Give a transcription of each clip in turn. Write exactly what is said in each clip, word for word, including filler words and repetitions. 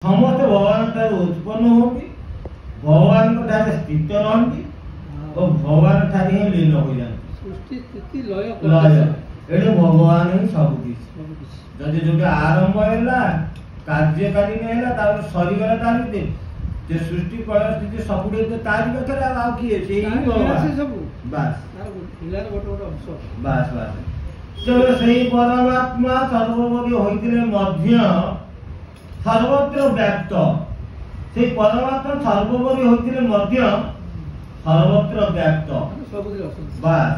ସମସ୍ତେ ଭଗବାନଙ୍କ ଠାରୁ ଉତ୍ପନ୍ନ ହୁଅନ୍ତି, ଭଗବାନଙ୍କ ଠାରେ ସ୍ଥିତ ରହନ୍ତି ଓ ଭଗବାନ ଠାରେ ହିଁ ଲୀନ ହୋଇଯାନ୍ତି। ସୃଷ୍ଟି ସ୍ଥିତି ଲୟ ଲୟ, ଏଣୁ ଭଗବାନ ହିଁ ସବୁ କିଛି। ସବୁ କିଛି। ଯଦି ଯୋଉଟା ଆରମ୍ଭ ହେଲା, କାର୍ଯ୍ୟକାରୀ ହେଲା, ତାପରେ ସରିଗଲା, ତା ଭିତରେ ଯେ ସୃଷ୍ଟି ପ୍ରଳୟ ସ୍ଥିତି ସବୁଠି ତ ତାରି ପାଖରେ, ଆଉ ଆଉ କିଏ? ସେଇ ହିଁ ତାର ଲୀଳା ଭଗବାନ ସେ ସବୁ। ବାସ୍, ତାର ଲୀଳାର ଗୋଟେ ଗୋଟେ ଅଂଶ। ବାସ୍ ବାସ୍। ତେଣୁ ସେଇ ପରମାତ୍ମା ସର୍ବୋପରି ହୋଇଥିଲେ ମଧ୍ୟ ସର୍ବତ୍ର ବ୍ୟାପ୍ତ। ସେଇ ପରମାତ୍ମା ସର୍ବୋପରି ହୋଇଥିଲେ ମଧ୍ୟ ସର୍ବତ୍ର ବ୍ୟାପ୍ତ, ମାନେ ସବୁଥିରେ ଅଛନ୍ତି। ବାସ୍,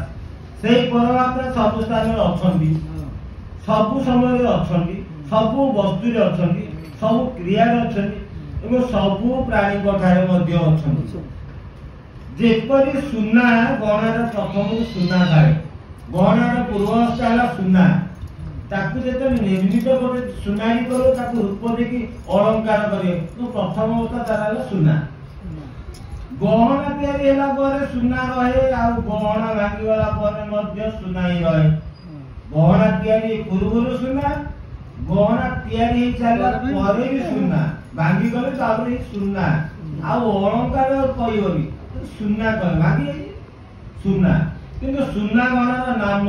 ସେଇ ପରମାତ୍ମା ସବୁ ସ୍ଥାନରେ ଅଛନ୍ତି, ହଁ ସବୁ ସମୟରେ ଅଛନ୍ତି, ସବୁ ବସ୍ତୁରେ ଅଛନ୍ତି, ସବୁ କ୍ରିୟାରେ ଅଛନ୍ତି ଏବଂ ସବୁ ପ୍ରାଣୀଙ୍କ ଠାରେ ମଧ୍ୟ ଅଛନ୍ତି। ଅଛନ୍ତି। ଯେପରି ସୁନା ଗହଣାର ପ୍ରଥମରୁ ସୁନା ଥାଏ, ଗହଣାର ପୂର୍ବ ଅବସ୍ଥା ହେଲା ସୁନା। ତାକୁ ଯେତେବେଳେ ନିର୍ମିତ ଗୋଟେ ସୁନାରୀ କରିବ, ତାକୁ ରୂପ ଦେଇକି ଅଳଙ୍କାର କରିବ, କିନ୍ତୁ ପ୍ରଥମ ଅବସ୍ଥା ତାର ହେଲା ସୁନା। ଗହଣା ତିଆରି ହେଲା ପରେ ସୁନା ରହେ, ଆଉ ଗହଣା ଭାଙ୍ଗିଗଲା ପରେ ମଧ୍ୟ ସୁନା ହିଁ ରହେ। ଗହଣା ତିଆରି ପୂର୍ବରୁ ସୁନା, ଗହଣା ତିଆରି ହେଇ ସାରିଲା ପରେ ବି ସୁନା, ଭାଙ୍ଗିଗଲେ ତାପରେ ହିଁ ସୁନା। ଆଉ ଅଳଙ୍କାର କହିବନି, ସୁନା କହେ, ଭାଙ୍ଗି ଯାଇଛି ସୁନା। କିନ୍ତୁ ସୁନା ଗହଣାର ନାମ,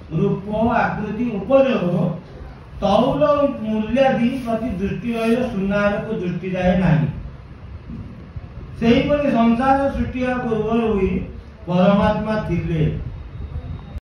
ରୂପ, ଆକୃତି, ଉପଯୋଗ, ତଉଲ, ମୂଲ୍ୟାଦି ପ୍ରତି ଦୃଷ୍ଟି ରହିଲେ ସୁନା ଆଡ଼କୁ ଦୃଷ୍ଟି ଯାଏ ନାହିଁ। ସେହିପରି ସଂସାର ସୃଷ୍ଟି ହେବା ପୂର୍ବରୁ ବି ପରମାତ୍ମା ଥିଲେ,